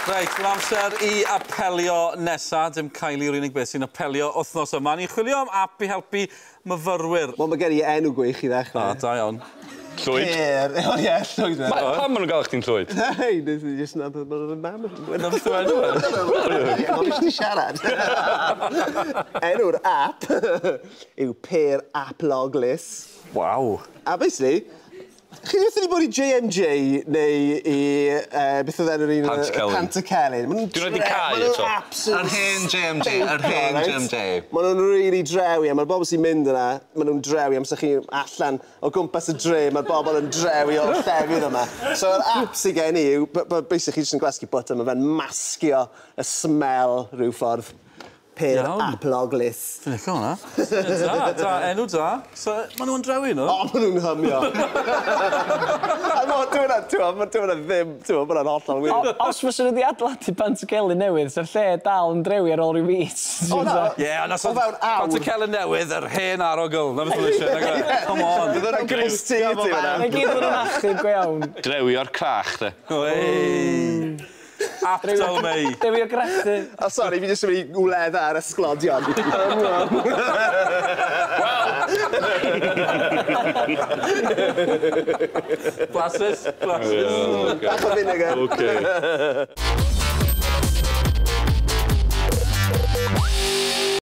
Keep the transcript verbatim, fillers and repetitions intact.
Reit, mae'n amser i apelio nesa. Dim Kylie yw'r unig beth sy'n apelio wythnos yma. Ni'n chwilio am app i helpu myfyrwyr. Wel, mae gen i enw gwych i ddechrau. O, da iawn. Llwyd. Pear. O, ie, llwyd. Ma- Pam maen nhw'n gael chdi'n llwyd? Hei, nes i jyst nabod bod yn mam. Na beth yw enw e? Mae'n jyst i siarad. Enw'r app yw Pear App Logless. Waw. A basically, chi wedi wedi bod i J M J neu i... Uh, beth oedd enw'r un? Pantycelyn. Pantycelyn. Ma' nhw'n Dwi wedi dre- cau ma' nhw'n eto. absolute Yr hen J M J, yr hen right? J M J. Ma' nhw'n really drewi, a mae'r bobl sy'n mynd yna, ma' nhw'n drewi amser chi allan o gwmpas y dre, mae'r bobl yn drewi o'r llefydd yma. So yr app sydd gen i yw, b- b- basically chi jyst yn gwasgu button, ma' fe'n masgio y smell rhyw ffordd. Pear Iawn. App Logless. Dwi'n licio hwnna. Da, da, enw da. So, maen nhw'n drewi, nhw? O, ma' nhw'n hymio. A ma' dyw hwnna, ti'n gwbod, dyw hwnna ddim, ti'n gwbod, ma' hwnna'n hollol wir. O- Os fysa nhw wedi adeiladu Pantycelyn newydd, sa'r lle dal yn drewi ar ôl rhyw fis. O, na. Ie, ond os O fewn awr. Pantycelyn newydd, yr hen arogl. Na beth nhw eisiau, nag yw e? Come on. Bydd hwnna'n grist ti, ti hwnna. Na gyd oedden nhw'n achub go iawn. Drewi o'r crach, de. Wey. Aptal mei. Drewi o grachu. O, sori, fi jyst yn mynd i wledda ar ysglodion. Blasus, blasus. Bach o vinegar. Okay.